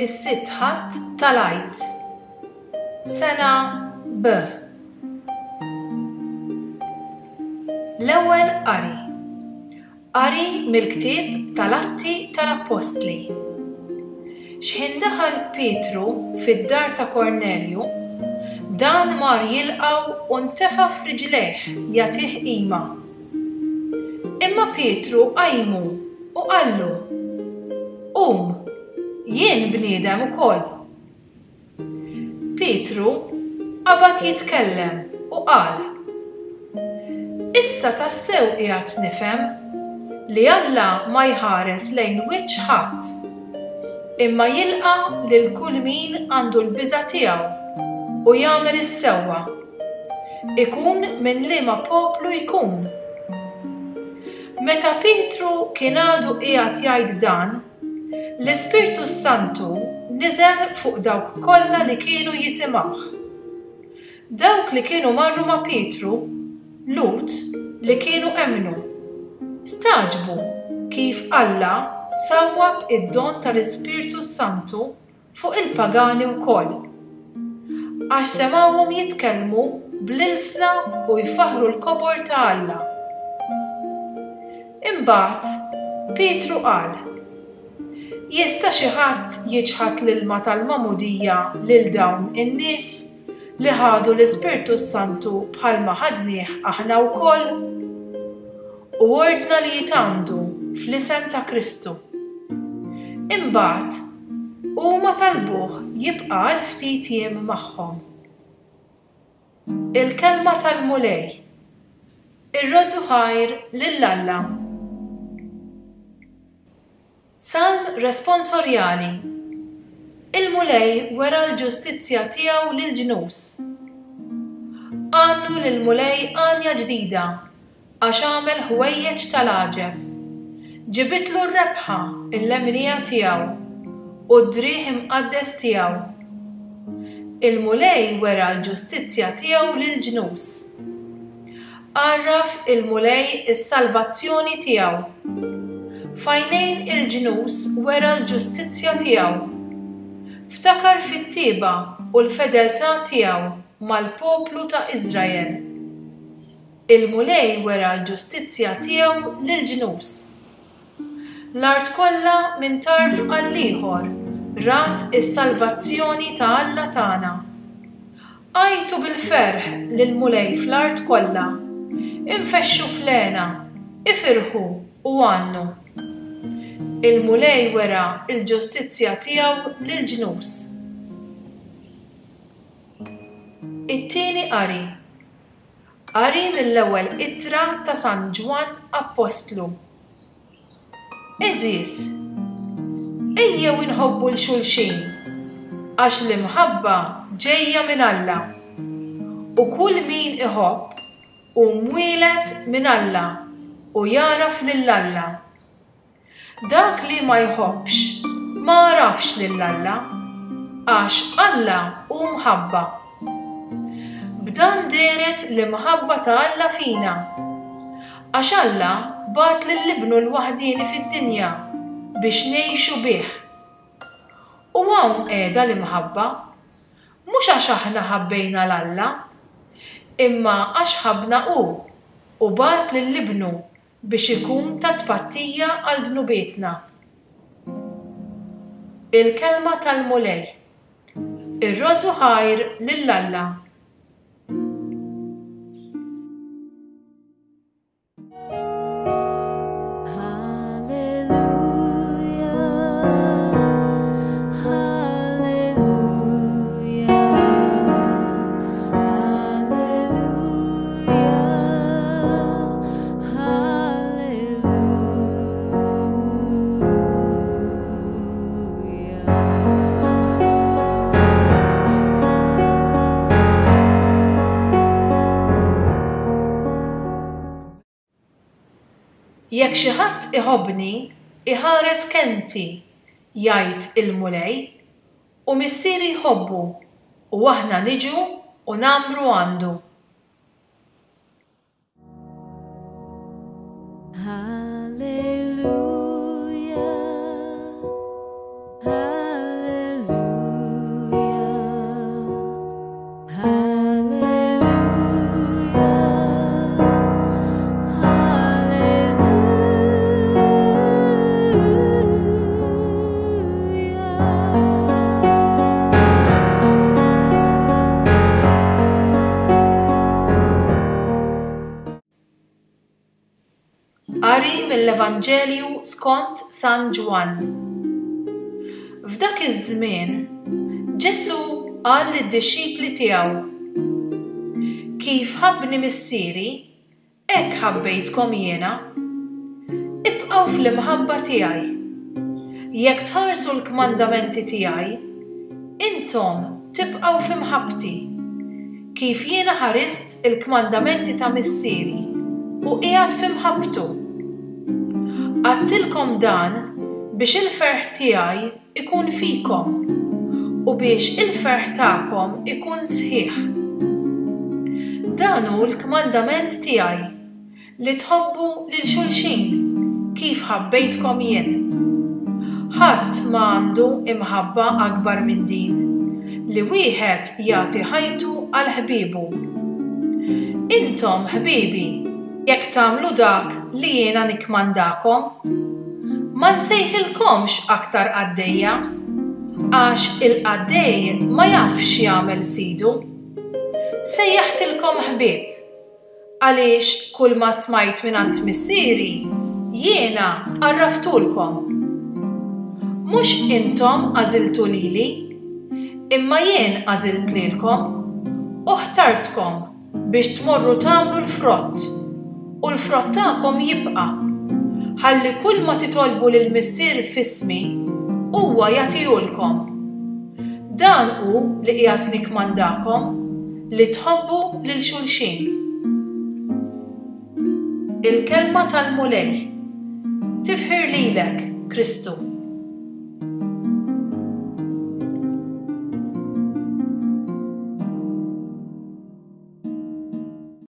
Is-sitt Ħadd tal-Għid. Sena B. L-ewwel qari. Qari mill-ktieb tal-Atti tal-Appostli. Xħin daħal Pietru fid-dar ta' Kornelju, dan mar jilqgħu u ntefa' f'riġlejh jagħtih qima. Imma Pietru qajmu u qallu, Qum, jien bniedem ukoll. Pietru qabad jitkellem u qal, Issa tassew qiegħed nifhem li Alla ma jħares lejn wiċċ ħadd, imma jilqa' lil kull min għandu l-biża' tiegħu u jagħmel is-sewwa, ikun minn liema poplu jkun. Meta Pietru kien għadu qiegħed jgħid dan, L-Ispirtu s-Santu niżel fuq dawk kollha li kienu jisimgħuh. Dawk li kienu marru ma' Pietru, Lhud li kienu emmnu, stagħġbu kif Alla sawwab id-don tal-Ispirtu s-Santu fuq il-pagani wkoll, għax semgħuhom jitkellmu bl-ilsna u jfaħħru l-kobor ta' Alla. Imbagħad Pietru qal, Jista' xi ħadd jiċħad l-ilma tal-magħmudija lil dawn in-nies li ħadu l-Ispirtu s-Santu bħalma ħadnieh aħna wkoll? U ordna li jitgħammdu fl-isem ta' Kristu. Imbagħad, huma talbuh jibqa' għal ftit jiem magħhom. Il-Kelma tal-Mulej. Irroddu ħajr lil Alla. Salm Responsorjali Il-Mulej wera l-ġustizzja tiegħu lill-ġnus. Għannu lill-Mulej għanja ġdida, għax għamel ħwejjeġ tal-għaġeb. Ġibitlu r-rebħa l-leminija tiegħu, u d-driegħ imqaddes tiegħu. Il-Mulej wera l-ġustizzja tiegħu lill-ġnus. Għarraf il-Mulej is-salvazzjoni tiegħu. F'għajnejn il-ġnus wera l-ġustizzja tiegħu. Ftakar fit-tjieba u l-fedeltà tiegħu mal-poplu ta' Iżrael. Il-Mulej wera l-ġustizzja tiegħu lill-ġnus. L-art kollha minn tarf għall-ieħor rat is-salvazzjoni ta' Alla tagħna. Għajtu bil-ferħ lill-Mulej fl-art kollha, infexxu fl-hena, ifirħu u għannu. Il-Mulej wera l-ġustizzja tiegħu lill-ġnus. It-tieni qari. Qari mill-ewwel ittra ta' San Ġwann Appostlu. Għeżież, ejjew inħobbu 'l xulxin, għax l-imħabba ġejja minn Alla, u kull min iħobb hu mwieled minn Alla u jagħraf lil Alla. Dak li ma jħobbx ma għarafx lil Alla, għax Alla hu mħabba. B'dan dehret l-imħabba ta' Alla fina, għax Alla bagħat lil Ibnu l-waħdieni fid-dinja biex ngħixu bih. U hawn qiegħda l-imħabba, mhux għax aħna ħabbejna 'l Alla, imma għax ħabbna hu u bagħat lil Ibnu biex ikun ta' tpattija għal dnubietna. Il-Kelma tal-Mulej. Irroddu ħajr lil Alla. Jekk xi ħadd iħobbni, iħares kelmti, jgħid il-Mulej, u Missieri jħobbu, u aħna niġu u ngħammru għandu. Qari mill-Evanġelju skont San Ġwann. F'dak iż-żmien, Ġesù qal lid-dixxipli tiegħu, Kif ħabbni Missieri, hekk ħabbejtkom jiena. Ibqgħu fl-imħabba tiegħi. Jekk tħarsu l-kmandamenti tiegħi, intom tibqgħu fi mħabbti, kif jiena ħarist il-kmandamenti ta' Missieri u qiegħed fi mħabbtu. Għadtilkom dan biex il-ferħ tiegħi jkun fikom u biex il-ferħ tagħkom ikun sħiħ. Dan hu l-kmandament tiegħi, Li tħobbu lil xulxin kif ħabbejtkom jien. Ħadd ma għandu imħabba akbar minn din, li wieħed jagħti ħajtu għal ħbiebu. Intom ħbiebi jekk tagħmlu dak li jiena nikkmandakom. Ma nsejħilkomx aktar qaddejja, għax il-qaddej ma jafx x'jagħmel sidu. Sejjaħtilkom ħbieb. Għaliex kulma smajt mingħand Missieri, jiena għarraftulkom. Mhux intom għażiltu lili, imma jien għażilt lilkom u ħtartkom biex tmorru tagħmlu l-frott, u l-frott tagħkom jibqa', ħalli kulma titolbu lill-Missier f'ismi, huwa jagħtihulkom. Dan hu li qiegħed nikkmandakom, li tħobbu lil xulxin. Il-Kelma tal-Mulej. Tifħir lilek, Kristu.